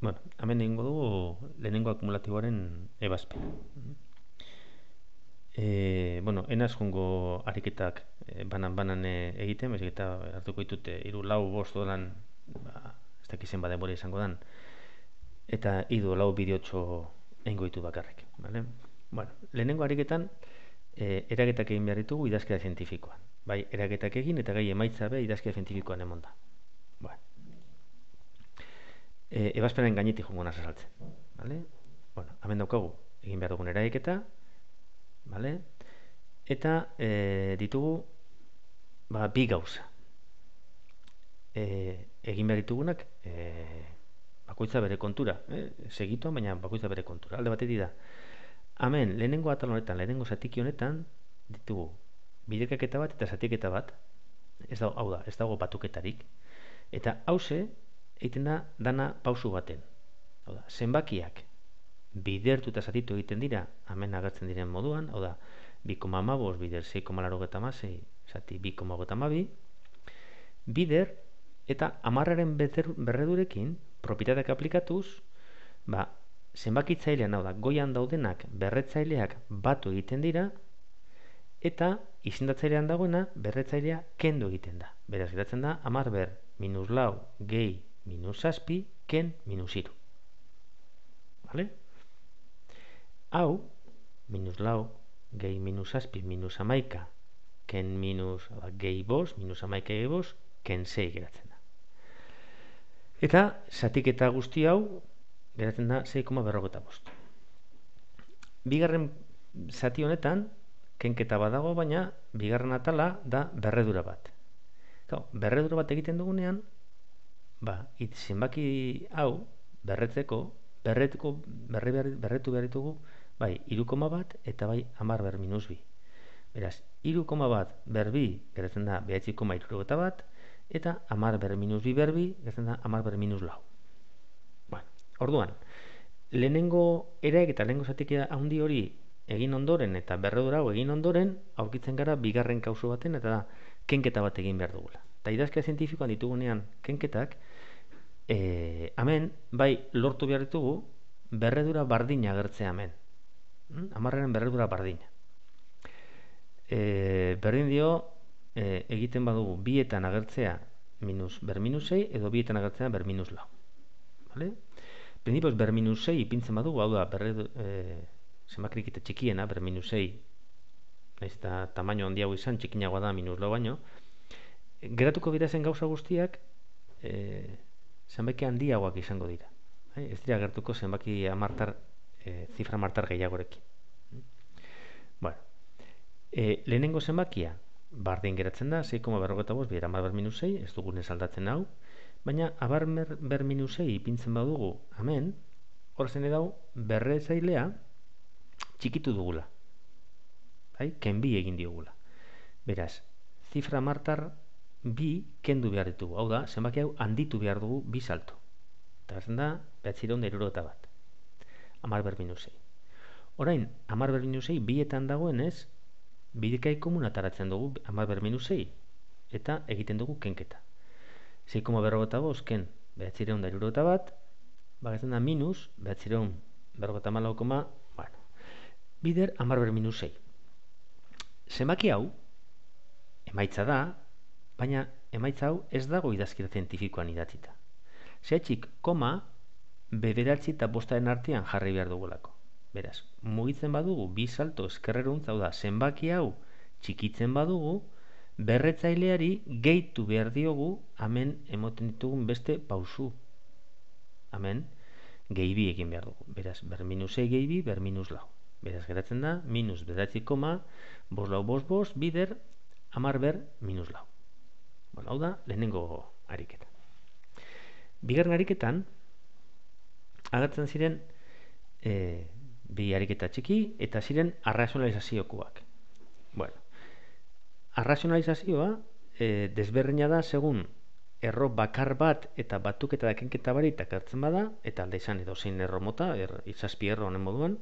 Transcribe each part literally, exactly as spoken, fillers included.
Bueno, hemen egingo dugu lehenengo akumulatiboaren ebazpena. E, bueno, enaz jungo ariketak e, banan-banan e, egiten, bezik eta hartuko ditut e, iru lau bost dolan, ba, ez dakizen bademora izango dan, eta idu lau bideotxo egingo ditu bakarrik. Vale? Bueno, lehenengo ariketan e, eraketak egin behar ditugu idazkera zientifikoan. Bai, eraketak egin eta gai emaitza be idazkera zientifikoan emon da. Bueno. E, ebazpenen gainetik jongo naz azaltzen. Vale? Bueno, hemen daukagu egin behar dugun eraketa, vale? Eta e, ditugu ba, bi gauza. E, egin behar ditugunak e, bakoitza bere kontura, eh? Segituan, baina bakoitza bere kontura. Alde batetik da, hemen lehenengo atal honetan, lehenengo zatiki honetan ditugu biderkaketa bat eta zatiketa bat, ez dago, hau da, ez dago batuketarik, eta hause egiten da dana pausu baten. Hau da, zenbakiak bidertu eta zatitu egiten dira, hemen agertzen diren moduan, hau da, bi koma hamabost bider sei koma laurogeita hamasei zati bi koma hogeita hamabi, bider eta hamarraren berredurekin propietateak aplikatuz, ba, zenbakitzailean, hau da, goian daudenak berretzaileak batu egiten dira, eta izendatzailean dagoena berretzailea kendu egiten da. Beraz, geratzen da, hamar ber minus lau gehi minus zazpi ken minus hiru. Vale? Hau, minus lau gehi minus zazpi minus hamaika ken minus gehi bost, minus hamaika gehi bost, ken sei geratzen da. Eta, zatiketa guzti hau, geratzen da sei koma berrogeita bost. Bigarren zati honetan, kenketa badago, baina bigarren atala da berredura bat. Gau, berredura bat egiten dugunean, ba, it, zenbaki hau berretzeko, berretuko, berre, berre, berretu behar ditugu, bai, iru koma bat eta bai hamar ber minus bi. Beraz, iru koma bat ber bi geratzen da bederatzi koma hirurogeita bat, eta hamar ber minus bi ber bi geratzen da hamar ber minus lau. Bueno, orduan, lehenengo eraik eta lehenengo zatik handi hori egin ondoren eta berredura hau egin ondoren, aurkitzen gara bigarren kauso baten eta da kenketa bat egin behar dugula. Eta idazkera zientifikoan ditugunean kenketak, e, hemen, bai lortu behar ditugu, berredura bardina agertzea hemen. Hamarraren berredura bardina. E, berdin dio, e, egiten badugu bietan agertzea minus ber minus sei edo bietan agertzea ber minus lau. Vale? Prindipoz ber minus sei ipintzen badugu, hau da, berredu, e, zenbakirik eta txikiena, ber minus sei, nahiz eta tamaino handiago izan, txikinagoa da minus lau baino, geratuko dira zen gauza guztiak, e, zenbaki handiagoak izango dira. E, ez dira gertuko zenbaki amartar, e, zifra martar gehiagorekin. Bueno, e, lehenengo zenbakia, bardin geratzen da, sei koma berrogeita bost, bidera hamar ber minus sei, ez dugunez aldatzen hau, baina hamar ber minus sei ipintzen badugu, hemen, horzen edau, berretzailea, txikitu dugula. Bai? Kenbi egin diogula. Beraz, zifra martar bi kendu behar ditugu. Hau da, zenbaki hau handitu behar dugu bi salto. Eta gertzen da, behatzireun da hirurogeita bat. hamar ber minus sei. Orain, hamar ber minus sei bietan dagoenez, bidekai komun ataratzen dugu hamar ber minus sei. Eta egiten dugu kenketa. sei koma berrogeita bost ken behatzireun da hirurogeita bat, bagatzen da minus, behatzireun berrogeita hamalau koma, bueno, bider hamar ber minus sei. Zenbaki hau, emaitza da, baina emaitza hau ez dago idazkera zientifikoan idatzita. Zehatxik, koma, bederatzi eta bostaren artean jarri behar dugulako. Beraz, mugitzen badugu, bi salto eskerreruntz, hau da, zenbaki hau txikitzen badugu, berretzaileari gehitu behar diogu, hemen emoten ditugun beste pausu. Hemen, gehi bi egin behar dugu. Beraz, ber minus sei gehi bi, ber minus lau. Beraz, geratzen da, minus bederatzi koma, bost lau bost bost, bider, hamar ber minus lau. Bueno, hau da, lehenengo ariketa. Bigarren ariketan, agertzen ziren e, bi ariketa txiki eta ziren arrazionalizaziokoak. Bueno, arrazionalizazioa e, desberdina da segun erro bakar bat eta batuketa da kenketa barik agertzen bada, eta alde izan edo zein erro mota, er, izazpi erro honen moduan,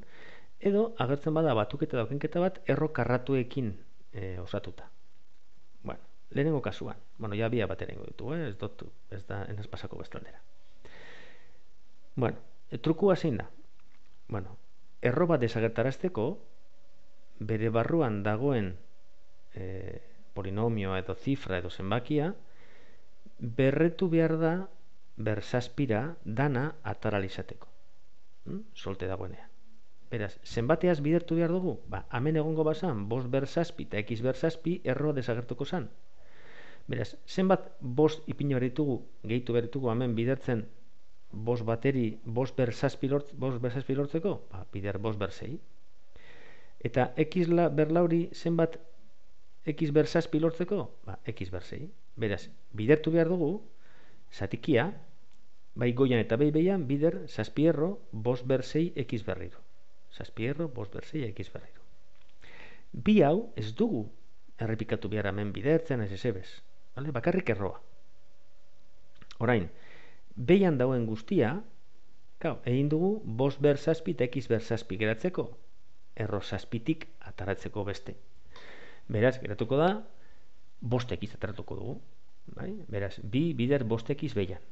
edo agertzen bada batuketa da kenketa bat erro karratuekin e, osatuta. Bueno, lehenengo kasuan, bueno, ja bia bat erengo ditu, eh? ez, dut, ez da enaz pasako bestaldera. Bueno, e, trukua zein da? Bueno, erro bat desagertarazteko, bere barruan dagoen e, polinomioa edo zifra edo zenbakia, berretu behar da berzazpira dana ataralizateko. Hm? Solte dagoenean. Beraz, zenbateaz bidertu behar dugu? Ba, hemen egongo bazan, bost berzazpi eta x berzazpi erroa desagertuko zan. Beraz, zenbat bost ipino beritugu, gehitu beritugu hemen bidertzen bost bateri, bost berzazpi lort, lortzeko? Ba, bider bost berzei. Eta x berlauri zenbat x berzazpi lortzeko? Ba, x berzei. Beraz, bidertu behar dugu, zatikia, bai goian eta bai behian, bider zazpi erro, bost berzei x berriro. Zazpi erro, bost berzei x berriro. Bi hau ez dugu errepikatu behar hemen bidertzen ez ezebez. Vale? Bakarrik erroa. Orain, behian dauen guztia, gau, egin dugu bost berzazpi eta x berzazpi geratzeko, erro zazpitik ataratzeko beste. Beraz, geratuko da, bost x ataratuko dugu. Bai? Beraz, bi bider bost x behian.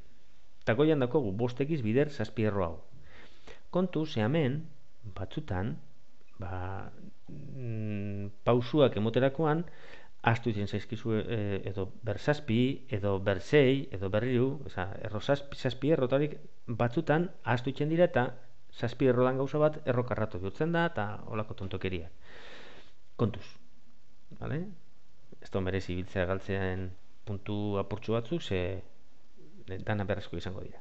Eta goian dakogu bost x bider zazpi erro hau. Kontu, ze hemen, batzutan, ba, mm, pausuak emoterakoan, astu izen zaizkizu e, edo berzazpi, edo berzei, edo berriru, eza, erro zazpi, zazpi errotarik batzutan astu itzen dira eta zazpi errodan gauza bat errokarratu bihurtzen da eta olako tontokeria. Kontuz. Vale? Ez da merezi biltzea galtzean puntu apurtxu batzuk, ze dana berrezko izango dira.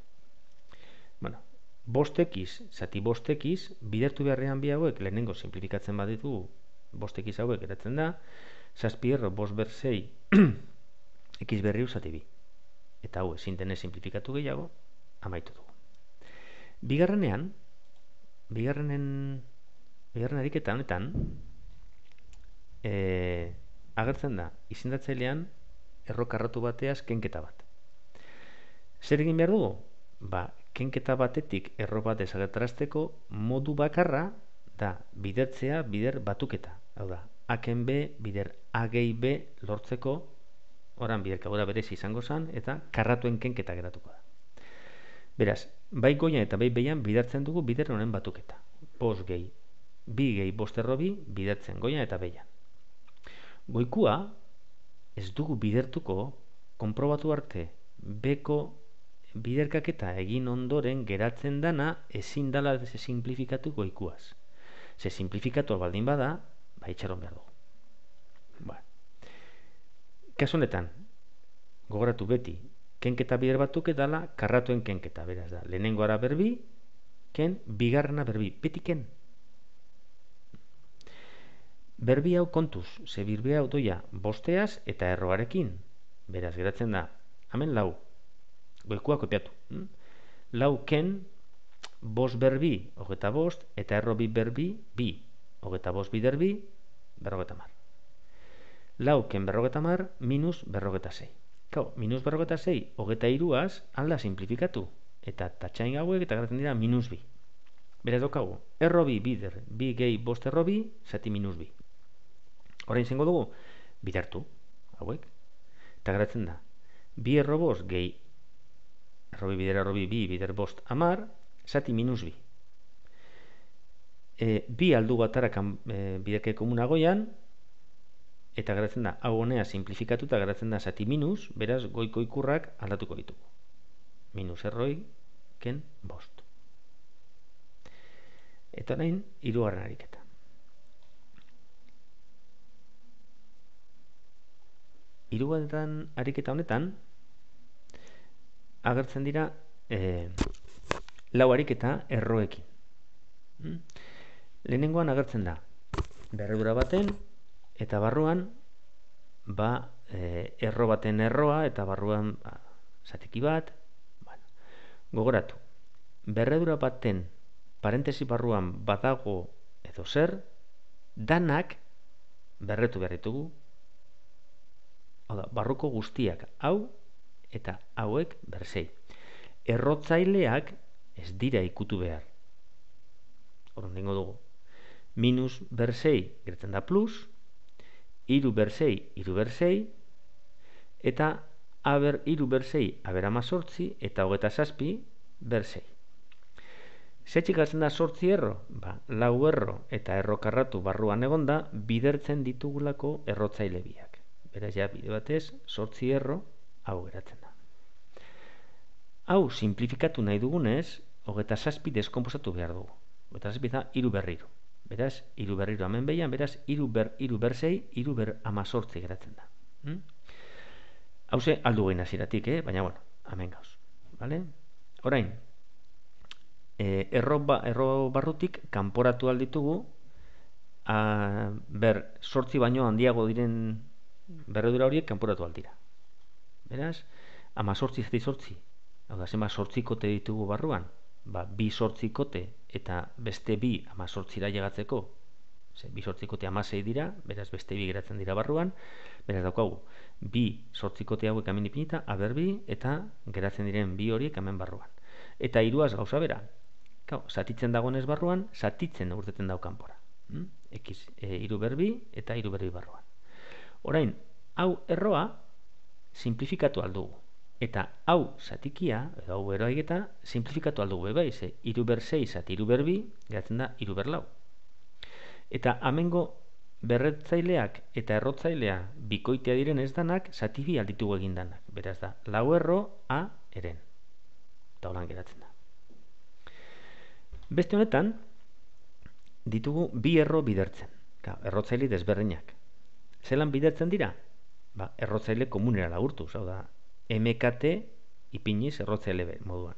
Bueno, bost x, zati bost x, bidertu beharrean bi hauek, lehenengo simplifikatzen baditu, bost x hauek geratzen da, zazpi erro bost berzei x berriu zati bi. Eta hau ezin denez simplifikatu gehiago, amaitu dugu. Bigarrenean, bigarrenen, bigarren ariketa honetan, e, agertzen da, izendatzailean errokarratu bateaz kenketa bat. Zer egin behar dugu? Ba, kenketa batetik erro bat desagertarazteko modu bakarra da bidertzea bider batuketa. Hau da, aken b bider a gehi b lortzeko, oran biderkabura berezi izango zen, eta karratuen kenketa geratuko da. Beraz, bai goian eta bai behian bidertzen dugu bider honen batuketa. Bost gehi, bi gehi bost erro bi bidertzen goian eta behian. Goikua ez dugu bidertuko konprobatu arte beko biderkaketa egin ondoren geratzen dana ezin dala ze simplifikatu goikuaz. Ze simplifikatu baldin bada, ba itxaron behar dugu. Ba. Kasu honetan, gogoratu beti, kenketa bider batuk edala karratuen kenketa, beraz da. Lehenengo ara berbi, ken, bigarrena berbi, beti ken. Berbi hau kontuz, ze birbi hau doia bosteaz eta erroarekin. Beraz, geratzen da, hemen lau, goikua kopiatu. Hm? Lau ken, bost berbi, hogeta bost, eta erro bi berbi, bi. Hogeta bost bider bi, berrogeta mar. Lau ken berrogeta mar, minus berrogeta sei. Kau, minus berrogeta sei, hogeta iruaz, alda simplifikatu. Eta tatxain hauek eta geratzen dira minus bi. Beraz daukagu, erro bi bider, bi gehi bost erro bi, zati minus bi. Orain zengo dugu, bidertu, hauek. Eta geratzen da, bi erro bost gehi, erro bi bider erro bi, bi bider bost amar, zati minus bi. E, bi aldu batarakan e, biderke komunagoian, eta geratzen da, hau honea simplifikatu eta geratzen da zati minus, beraz goiko ikurrak aldatuko ditugu. Minus erroi, ken bost. Eta orain, hirugarren ariketa. Hirugarren ariketa honetan, agertzen dira e, lau ariketa erroekin. Hmm? Lehenengoan agertzen da, berredura baten, eta barruan, ba, e, erro baten erroa, eta barruan, ba, zatiki bat, bueno, gogoratu, berredura baten, parentesi barruan badago edo zer, danak berretu behar ditugu, hau da, barruko guztiak hau, eta hauek berzei. Errotzaileak ez dira ikutu behar. Horren dingo dugu. Minus berzei gertzen da plus, iru berzei, iru berzei, eta aber iru berzei, aber amazortzi, eta hogeta zazpi berzei. Zetxik galtzen da sortzi erro? Ba, lau erro eta erro karratu barruan egonda bidertzen ditugulako errotzaile biak. Beraz, ja, bide batez, sortzi erro hau geratzen da. Hau, simplifikatu nahi dugunez, hogeita zazpi deskomposatu behar dugu. Hogeita zazpi da, iru berriro. Beraz, iru berriro hemen behian, beraz, iru ber, iru ber sei, iru ber amazortzi geratzen da. Hmm? Hau ze, aldu gehin aziratik, eh? Baina, bueno, hemen gauz. Vale? Orain, eh, erro, ba, erro barrutik kanporatu alditugu, a, ber, sortzi baino handiago diren berredura horiek kanporatu aldira. Beraz, amazortzi zati sortzi. Hau da, zenba sortzikote ditugu barruan? Ba, bi sortzikote eta beste bi amazortzira llegatzeko. Ze, bi sortzikote amasei dira, beraz beste bi geratzen dira barruan. Beraz daukagu, bi sortzikote hauek hemen ipinita, aber bi, eta geratzen diren bi horiek hemen barruan. Eta hiruaz gauza bera. Kau, zatitzen dagoenez barruan, zatitzen urteten dau kanpora. Hmm? X, e, iru berbi eta iru berbi barruan. Orain, hau erroa simplifikatu aldugu. Eta hau zatikia, edo hau eroaigeta, simplifikatu aldugu bai, ze iru ber sei zati iru ber bi, geratzen da iru ber lau. Eta amengo berretzaileak eta errotzailea bikoitea diren ez danak, zati bi alditugu egin danak. Beraz da, lau erro a eren. Eta holan geratzen da. Beste honetan, ditugu bi erro bidertzen. Ka, errotzaile desberdinak. Zelan bidertzen dira? Ba, errotzaile komunera lagurtu, hau da, M K T ipiniz errotzaile moduan.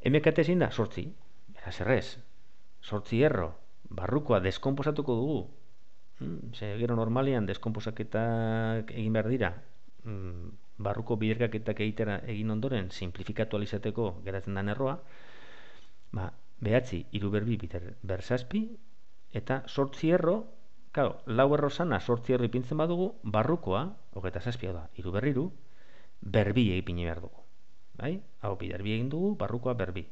M K T zein da? Sortzi. Beraz errez. Sortzi erro. Barrukoa deskomposatuko dugu. Hmm, ze, gero normalian deskomposaketak egin behar dira. Hmm, barruko biderkaketak egitera egin ondoren simplifikatu alizateko geratzen den erroa. Ba, behatzi, iru berbi ber zazpi, eta sortzi erro, claro, lau erro sana sortzi erro ipintzen badugu, barrukoa, hogeita zazpia da, iru berriru, berbi egin behar dugu. Bai? Hau biderbi egin dugu, barrukoa berbi.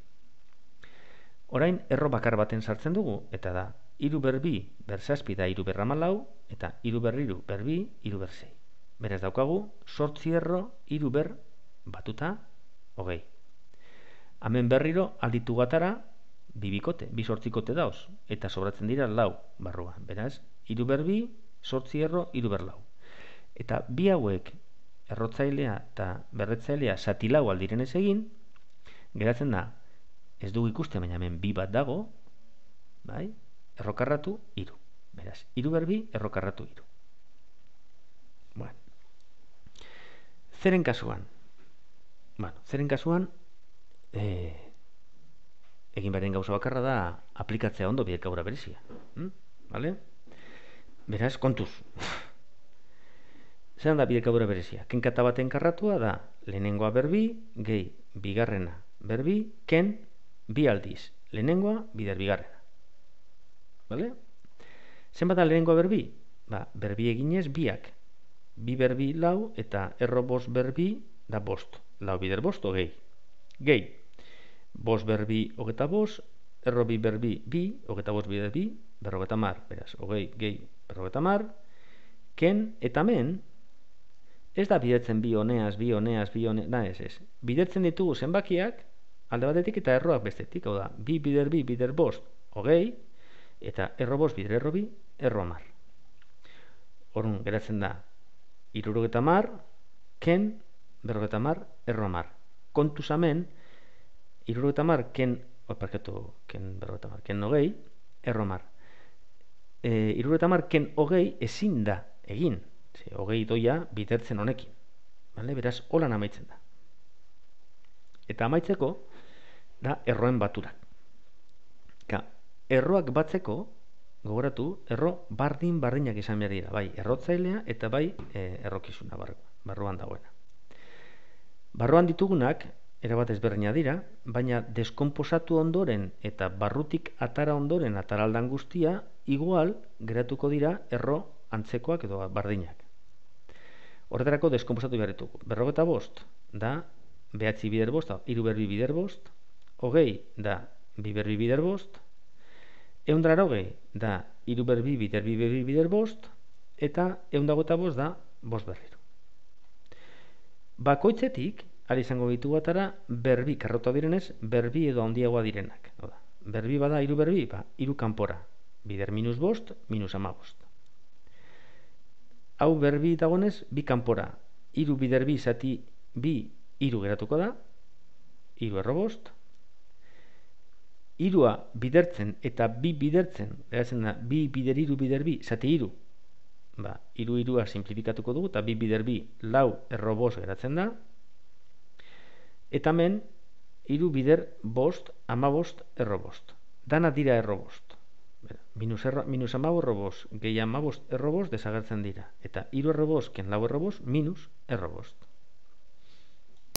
Orain, erro bakar baten sartzen dugu, eta da, iru berbi ber zazpi da iru berra malau, eta iru berriru berbi, iru ber sei. Beraz daukagu, sortzi erro, iru ber batuta, hogei. Hemen berriro alditu gatara, bi bikote, bi sortzikote dauz, eta sobratzen dira lau barruan. Beraz, iru berbi, sortzi erro, iru ber lau. Eta bi hauek, errotzailea eta berretzailea zati lau aldiren ez egin, geratzen da, ez dugu ikusten, baina hemen bi bat dago, bai? Errokarratu, iru. Beraz, iru berbi, errokarratu, iru. Bueno. Zeren kasuan? Bueno, zeren kasuan, eh, egin beharen gauza bakarra da aplikatzea ondo bidekabura berezia. Hmm? Vale? Beraz, kontuz. Zeran da bidekabura berezia? Kenkata baten karratua da lehenengoa berbi, gehi bigarrena berbi, ken bi aldiz. Lehenengoa bider bigarrena. Vale? Zenbat da lehenengoa berbi? Ba, berbi eginez biak. Bi berbi lau eta erro bost berbi da bost. Lau bider bost, gehi. Gehi. Bost berbi hogeta bost, erro bi berbi bi, hogeta bost bider bi, berrogeta mar. Beraz, hogei gehi berrogeta mar. Ken eta men, ez da bidertzen bi honeaz, bi honeaz, bi honeaz, da ez ez. Bidertzen ditugu zenbakiak, alde batetik eta erroak bestetik, hau da, bi bider bi, bider bost, hogei, eta erro bost, bider erro bi, erro mar. Horun, geratzen da, irurogeta mar, ken, berrogeta mar, erro mar. Kontuz hemen, irurogeta mar, ken, oparkatu, ken berrogeta mar, ken hogei, erro mar. E, irurogeta mar, ken hogei ezin da egin. Ze, hogei doia bidertzen honekin. Vale? Beraz, holan amaitzen da. Eta amaitzeko, da erroen baturak. Ka, erroak batzeko, gogoratu, erro bardin bardinak izan behar dira. Bai, errotzailea eta bai e, errokizuna bar, barruan dagoena. Barruan ditugunak, erabat ezberdina dira, baina deskomposatu ondoren eta barrutik atara ondoren ataraldan guztia, igual geratuko dira erro antzekoak edo bardinak. Horretarako deskomposatu behar ditugu. Berrogeta bost da behatzi bider bost, hiru berbi bider bost, hogei da bi berbi bider bost, ehundra hogei da hiru berbi bider bi berbi bider bost, eta ehundagota bost da bost berriro. Bakoitzetik ari izango ditugu atara, berbi karrota direnez, berbi edo handiagoa direnak. Oda, berbi bada, hiru berbi, ba, hiru kanpora. Bider minus bost, minus amabost. Hau berbi dagoenez, bi kanpora. Hiru bider bi zati bi, hiru geratuko da, hiru erro bost. Hirua bidertzen eta bi bidertzen, geratzen da, bi bider hiru bider bi, zati hiru. Ba, hiru hirua simplifikatuko dugu, eta bi bider bi, lau erro bost geratzen da. Eta hemen, hiru bider bost, amabost, erro bost. Dana dira erro bost. Minus, erro, minus amabost erro bost, gehi amabost erro bost desagertzen dira. Eta hiru erro bost, ken lau erro bost, minus erro bost.